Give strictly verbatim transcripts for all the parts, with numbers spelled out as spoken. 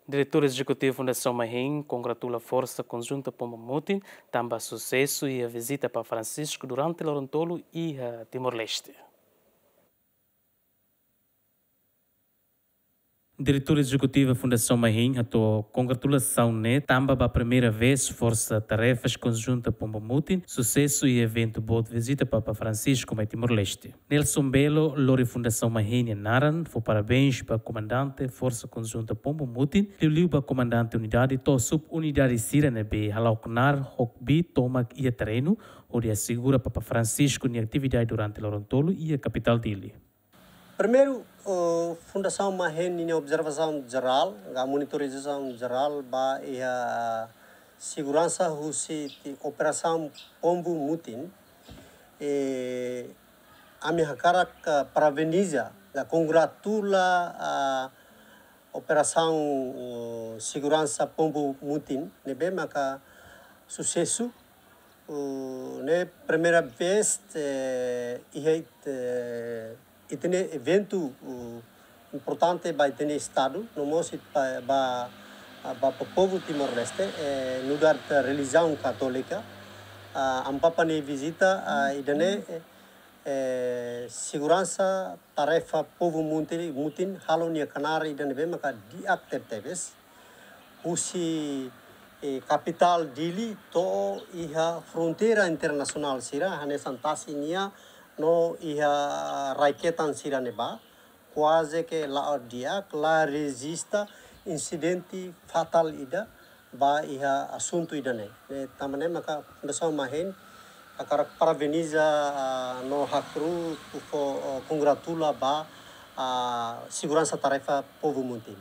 Diretór Ezekutivu Fundasaun Mahin kongratula Forsa Konjunta Pombu Mutin tanba susesu iha vizita Papa Francisco durante loron tolu iha Timor-Leste. Diretór Ezekutivu Fundasaun Mahin hato'o kongratulasaun ne'e tanba ba primeira vez Forsa Tarefas Konjunta Pombu Mutin susesu iha eventu boot vizita Papa Francisco mai Timor-Leste. Nelson Belo lori Fundasaun Mahin nia naran, fó parabéns ba Komandante Forsa Konjunta Pombu Mutin, liuliu ba Komandante Unidade to'o sub-unidade sira ne'ebé hala'o knaar ho kbiit tomak iha terrenu, hodi asegura Papa Francisco nia atividade durante loron tolu iha kapitál Dili. Primeiru, eh, Fundasaun Mahin nia observasaun jerál, ka monitorizasaun jerál ba iha seguransa husi ti operasaun Pombu Mutin, eh, ami hakarak, eh, parabeniza, ka kongratula, ah, operasaun, eh, seguransa Pombu Mutin, ne'ebé maka susesu, eh, ne'e primeira vez, eh, iha, eh, ita-nia eventu, eh, importante ba ita-nia Estadu, no mós it-, ba, ba, ba povu Timor-Leste, eh, nu'udar relijiaun katólika, ah, Amu Papa nia vizita, ah, ida-ne'e, eh, eh, seguransa tarefa Pombu Mutin, Mutin halo nia knaar ida ne'ebé maka di'ak tebetebes. Husi, eh, kapitál Dili to'o iha fronteira internasionál sira, hanesan tasi nia no iha rai-ketan sira ne'ebá, kuaze ke la'o di'ak, la rejista insidente fatál ida ba iha asuntu ida-ne'e. Ne'e tanba ne'e maka Fundasaun Mahin hakarak parabeniza, ah, no hakru'uk, fó, ah, kongratula ba, ah, seguransa tarefa Pombu Mutin.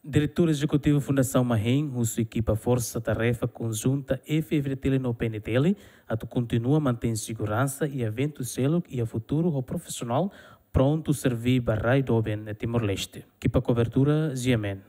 Diretór Ezekutivu Fundasaun Mahin husu ekipa Forsa Tarefa Konjunta F-FDTL no P N T L atu kontinua mantein seguransa iha eventu seluk iha futuru ho profisionál, prontu serví ba rai doben Timor-Leste. Ekipa kobertura, G M N.